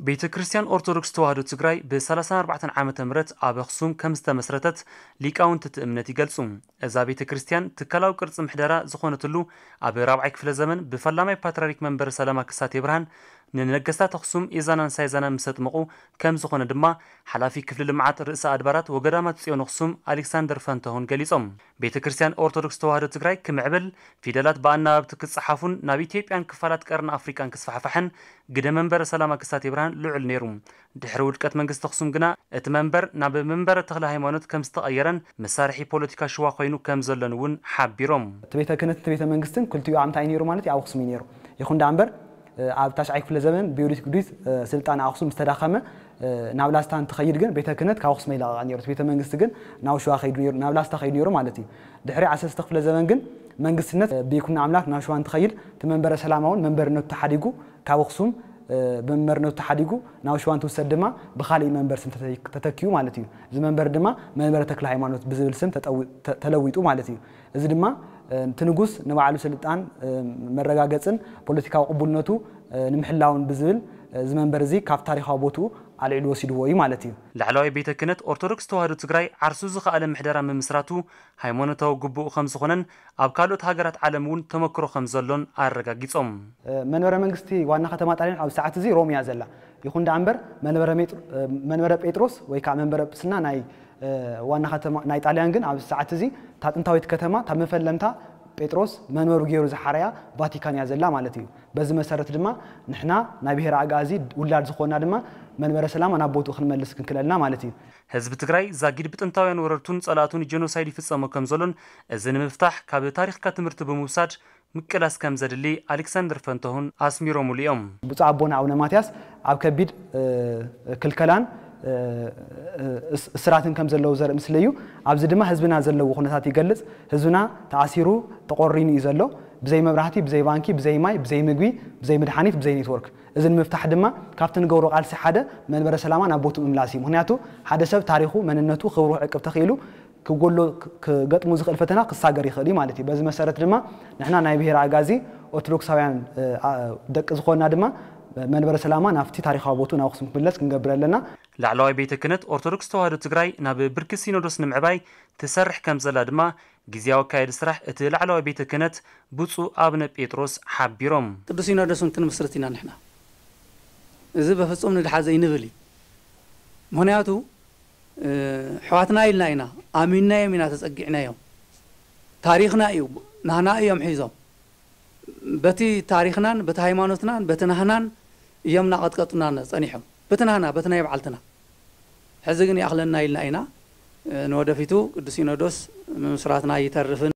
ቤተ ክርስቲያን ኦርቶዶክስ ተዋህዶ ትግራይ ብ ሰላሳን ኣርባዕተን ዓመተ ምህረት ኣብ ኣኽሱም ከም ዝተመስረተት ሊቃውንቲ እቲ እምነት ይገልጹ። እዛ ቤተ ክርስቲያን ትካላዊ ቅርጺ ምሕደራ ዝኾነትሉ ኣብ ራብዓይ ክፍለ ዘመን ብፈላማይ ፓትርያርክ መንበረ ሰላማ ክሳቴ ብርሃን ንነገስታት ኣኽሱም ኢዛናን ሳይዛናን ምስ ኣጥመቑ ከም ዝኾነ ድማ ሓላፊ ክፍሊ ልምዓት ርእሰ ኣድባራት ወገዳማት ጽዮን ኣኽሱም ኣሌክሳንደር ፈንታሁን ገሊጾም። ቤተ ክርስቲያን ኦርቶዶክስ ተዋህዶ ትግራይ ክምዕብል፣ ፊደላት ብኣናባብቲ ክጸሓፉን ናብ ኢትዮጵያን ክፋላት ቀርኒ ኣፍሪቃን ክስፋሕፋሕን ግደ መንበረ ሰላማ ክሳቴ ብርሃን ልዑል ነይሩ። ድሕሪ ውድቀት መንግስቲ ኣኽሱም ግና እቲ መንበር ናብ መንበረ ተክለ ሃይማኖት ከም ዝተቐየረን መሳርሒ ፖለቲካ ሽዋ ኮይኑ ከም ዘሎን እውን ሓቢሮም። እቲ ቤተ ክህነትን እቲ ቤተ መንግስትን ክልቲኡ ኣብ ምንታይ ነይሩ ማለት እዩ? ኣብ ኣኽሱም እዩ ነይሩ። ይኹን ደኣ እምበር፣ እ፣ ኣብ ታሽዓይ ክፍለ ዘመን ብዮዲት ግዱይት፣ እ፣ ስልጣነ ኣኽሱም ምስ ተዳኸመ፣ እ፣ ናብ ላስታ እንትኸይድ ግን ቤተ ክህነት ካብ ኣኽሱም ኣይለቐቐ ነይሩ። እቲ ቤተ መንግስቲ ግን ናብ ሸዋ ከይዱ ነይሩ፣ ናብ ላስታ ከይዱ ነይሩ ማለት እዩ። ድሕሪ ዓሰርተ ክፍለ ዘመን ግን መንግስትነት፣ እ፣ ብይኩኖ ኣምላክ ናብ ሸዋ እንትኸይድ እቲ መንበረ ሰላማ እውን መንበርነቱ ተሓዲጉ ካብ ኣኽሱም፣ እ፣ ብመንበርነቱ ተሓዲጉ ናብ ሸዋ እንትውሰድ ድማ ብኻሊእ መንበር ስም ተተ-፣ ተተኪኡ ማለት እዩ። እዚ መንበር ድማ መንበረ ተክለ ሃይማኖት ብዝብል ስም ተጠዊ-፣ ተ-፣ ተለዊጡ ማለት እዩ። እዚ ድማ፣ እ፣ እቲ ንጉስ ንባዕሉ ስልጣን፣ እ፣ መረጋገጽን ፖለቲካዊ ቅቡልነቱ፣ እ፣ ንምሕላውን ብዝብል፣ እ፣ እዚ መንበር እዚ ካብ ታሪኻዊ ቦትኡ ኣልዒሉ ወሲድዎ እዩ ማለት እዩ። ላዕለዋይ ቤተ ክህነት ኦርቶዶክስ ተዋህዶ ትግራይ ዓርሱ ዝኸኣለ ምሕደራ ምምስራቱ ሃይማኖታዊ ግቡኡ ከም ዝኾነን ኣብ ካልኦት ሃገራት ዓለም እውን ተመክሮ ከም ዘሎን ኣረጋጊጾም። መንበረ መንግስቲ ዋና ከተማ ጣልያን ኣብዚ ሰዓት እዚ ሮም እያ ዘላ። ይኹን ደኣ እምበር መንበረ ሜጥሮ-፣ መንበረ ጴጥሮስ ወይ ከዓ መንበረ ጵስና ናይ ዋና ከተማ ናይ ጣልያን ግን ኣብዚ ሰዓት እዚ እታ ጥንታዊት ከተማ እታ መፈለምታ ጴጥሮስ መንበሩ ገይሩ ዝሓረያ ቫቲካን እያ ዘላ ማለት እዩ። በዚ መሰረት ድማ ንሕና ናይ ብሄረ ኣግኣዚ ውላድ ዝኾንና ድማ መንበረ ሰላማ ናብ ቦትኡ ክንመልስ ክንክለልና ማለት እዩ። ህዝቢ ትግራይ ዛጊድ ብጥንታውያን ወረርቱን ጸላእቱን ጀኖሳይድ ይፍጸሞ ከም ዘሎን እዚ ንምፍታሕ ካብ ታሪኽካ ትምህርቲ ብምውሳድ ምቅላስ ከም ዘድሊ ኣሌክሳንደር ፈንታሁን ኣስሚሮምሉ እዮም። ብፁዕ ኣቦና ኣቡነ ማትያስ ኣብ ከቢድ፣ እ፣ ክልከላን፣ እ፣ እ፣ እስ-፣ እስራትን ከም ዘለዉ ዘርኢ ምስሊ እዩ። ኣብዚ ድማ ህዝብና ዘለዎ ኩነታት ይገልጽ። ህዝብና ተኣሲሩ ተቖሪኑ እዩ ዘሎ። ብዘይ መብራህቲ፣ ብዘይ ባንኪ፣ ብዘይ ማይ፣ ብዘይ ምግቢ፣ ብዘይ መድሓኒት፣ ብዘይ ኔትወርክ። እዚ ንምፍታሕ ድማ ካብቲ ንገብሮ ቃልሲ ሓደ መንበረ ሰላማ ናብ ቦትኡ ምምላስ እዩ። ምኽንያቱ ሓደ ሰብ ታሪኹ፣ መንነቱ፣ ክብሩ ክዕቅብ ተኽኢሉ ክጎሎ ክ-፣ ክገጥሙ ዝኽእል ፈተና ክሳገር ይኽእል እዩ ማለት እዩ። በዚ መሰረት ድማ ንሕና ናይ ብሄረ ኣጋዚ ኦርቶዶክሳውያን፣ እ፣ ኣ-፣ ደቂ ዝኾንና ድማ መንበረ ሰላማ ናብቲ ታሪኻዊ ቦትኡ ናብ ኣኽሱም ክምለስ ክንገብር ኣለና። ላዕለዋይ ቤተ ክህነት ኦርቶዶክስ ተዋህዶ ትግራይ ናብ ብርኪ ሲኖዶስ ንምዕባይ ትሰርሕ ከም ዘላ ድማ ግዝያዊ ኣካያዲ ስራሕ እቲ ላዕለዋይ ቤተ ክህነት ብፁዕ ኣቡነ ጴጥሮስ ሓቢሮም። ቅዱስ ሲኖዶስ እውን ክንምስርት ኢና ንሕና። እዚ በፍጹም ንድሓር ዘይንብል እዩ። ምኽንያቱ፣ እ፣ ኣሕዋትና ኢልና ኢና፣ ኣሚንናዮም ኢና ተጸጊዕናዮም። ታሪኽና እዩ፣ ናህና እዮም ሒዞም። በቲ ታሪኽናን፣ በቲ ሃይማኖትናን፣ በቲ ናህናን እዮም እናቐጥቀጡና ጸኒሖም። በቲ ናህና፣ በቲ ናይ ባዕልትና። ሕዚ ግን ይኣኽለና ኢልና ኢና። እ፣ ንወደፊቱ ቅዱስ ሲኖዶስ ምምስራትና ኣይተርፍን።